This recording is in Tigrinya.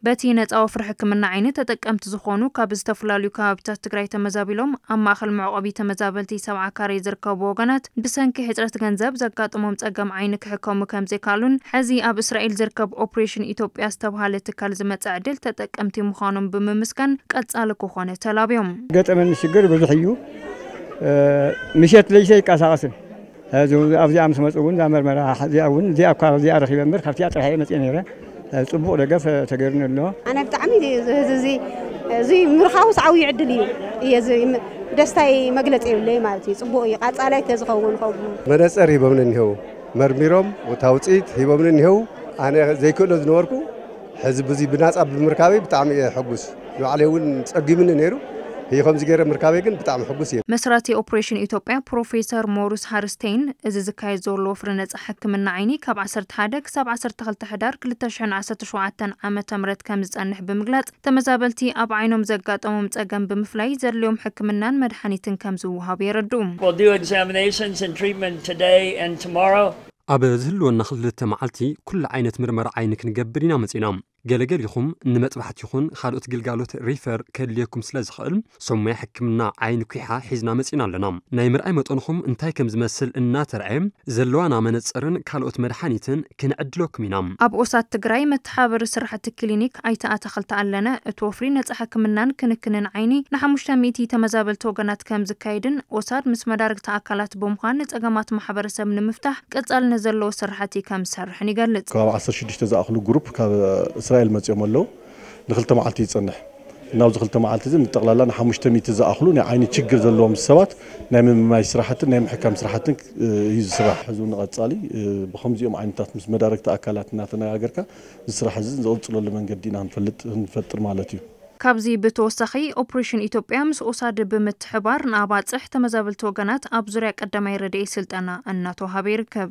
በቲ ነፃ ወፍሪ ሕክምና ዓይኒ ተጠቀምቲ ዝኾኑ ካብ ዝተፈላለዩ ከባቢታት ትግራይ ተመዛቢሎም ኣብ ማእኸል መዕቆቢ ተመዛበልቲ ሰብዓ ካሬ ዝርከቡ ወገናት ብሰንኪ ሕፅረት ገንዘብ ዘጋጥሞም ፀገም ዓይኒ ክሕከሙ ከምዘይካሉን ሕዚ ኣብ እስራኤል ዝርከብ ኦፕሬሽን ኢትዮጵያ ዝተብሃለ ትካል ዝመፀ ዕድል ተጠቀምቲ ምዃኖም ብምምስጋን ቀፃሊ ክኾነ ተላብዮም። ገጠመኒ ሽግር ብዙሕ እዩ። ምሸት ለይሰ ይቀሳቐስን ኣብዚኣ ምስ መፁ እውን እዛ መርመራ እዚኣ እውን እዚኣ እኳ እዚኣ ረኺበ እምበር ካብቲኣ ጥራሕ እየ መፅእ ነይረ። ፅቡቕ ደገፍ ተገይሩኒ ኣሎ። ኣነ ብጣዕሚ እዚ እዚ ምርኻቡስ ዓብዪ ዕድል እዩ። እየ ደስታይ መግለፂ የብለይ ማለት እዩ። ፅቡቕ እዩ። ቃፃላይ ተዝኸውን ከምኡ መነፀር ሂቦምኒ እኒሄው፣ መርሚሮም እቲ ውፅኢት ሂቦምኒ እኒሄው። ኣነ ዘይክእሎ ዝነበርኩ ሕዚ ብዙ ብናፃ ብምርካበይ ብጣዕሚ እየ ሕጉስ። ንባዕለይ እውን ፀጊምኒ ነይሩ። ህዩ ከምዚ ገይረ ምርካበይ ግን ብጣዕሚ ሕጉስ እየ። መስራቲ ኦፕሬሽን ኢትዮጵያ ፕሮፌሰር ሞሩስ ሃርስቴይን እዚ ዝካየድ ዘሎ ወፍሪ ነፃ ሕክምና ዓይኒ ካብ ዓሰርተ ሓደ ክሳብ ዓሰርተ ክልተ ሕዳር ክልተ ሽሕን ዓሰርተ ሸውዓተን ዓመተ ምህረት ከም ዝፀንሕ ብምግላፅ ተመዛበልቲ ኣብ ዓይኖም ዘጋጠሞም ፀገም ብምፍላይ ዘድልዮም ሕክምናን መድሓኒትን ከም ዝወሃቡ የረድኡ። We'll do examinations and treatment today and tomorrow. ኣብ ዝህልወና ክልተ መዓልቲ ኩሉ ዓይነት ምርመራ ዓይኒ ክንገብር ኢና መፂና። ገለገሊኹም ንመጥባሕቲ ይኹን ካልኦት ግልጋሎት ሪፈር ከድልየኩም ስለ ዝኽእል፣ ሰሙያ ሕክምና ዓይኒ ኲሓ ሒዝና መጺና ኣለና። ናይ ምርኣይ መጠንኹም እንታይ ከም ዝመስል እናተርኣየ፣ ዘለዋና መነጽርን ካልኦት መድሓኒትን ክንዕድለኩም ኢና። ኣብ ኦሳድ ትግራይ መተሓባበሪ ስራሕቲ ክሊኒክ ኣይተ ኣታኽልቲ ኣለነ፣ እቲ ወፍሪ ነጻ ሕክምናን ክንክንን ዓይኒ ንሓሙሽተ ሚእቲ ተመዛበልቲ ወገናት ከም ዝካየድን ኦሳድ ምስ መዳርግቲ ኣካላት ብምዃን ንጸገማት ማሕበረሰብ ንምፍታሕ ቀጻልነት ዘለዎ ስራሕቲ ከም ዝሰርሕን ይገልጽ። ከባቢ ዓሰርተ ሽዱሽተ ዝኣኽሉ ግሩፕ ካብ እስራኤል መጺኦም ኣለዉ። ንክልተ መዓልቲ ይጸንሕ። ናብዚ ክልተ መዓልቲ እዚ ንጠቕላላ ንሓሙሽተ ሚእቲ ዝኣኽሉ ናይ ዓይኒ ችግር ዘለዎም ሰባት ናይ ምምማይ ስራሕትን ናይ ምሕካም ስራሕትን እዩ ዝስራሕ። ሕዚ እውን ንቐጻሊ ብኸምዚኦም ዓይነታት ምስ መዳርግቲ ኣካላት እናተነጋገርካ እዚ ስራሕ እዚ ዝቕጽለሉ መንገዲ ኢና ክንፈልጥ ክንፈጥር ማለት እዩ። ካብዚ ብተወሳኺ ኦፕሬሽን ኢትዮጵያ ምስ ኦሳድ ብምትሕባር ንኣባፅሕ ተመዛበልቲ ወገናት ኣብ ዙርያ ቀዳማይ ረድኤት ስልጠና እናተወሃበ ይርከብ።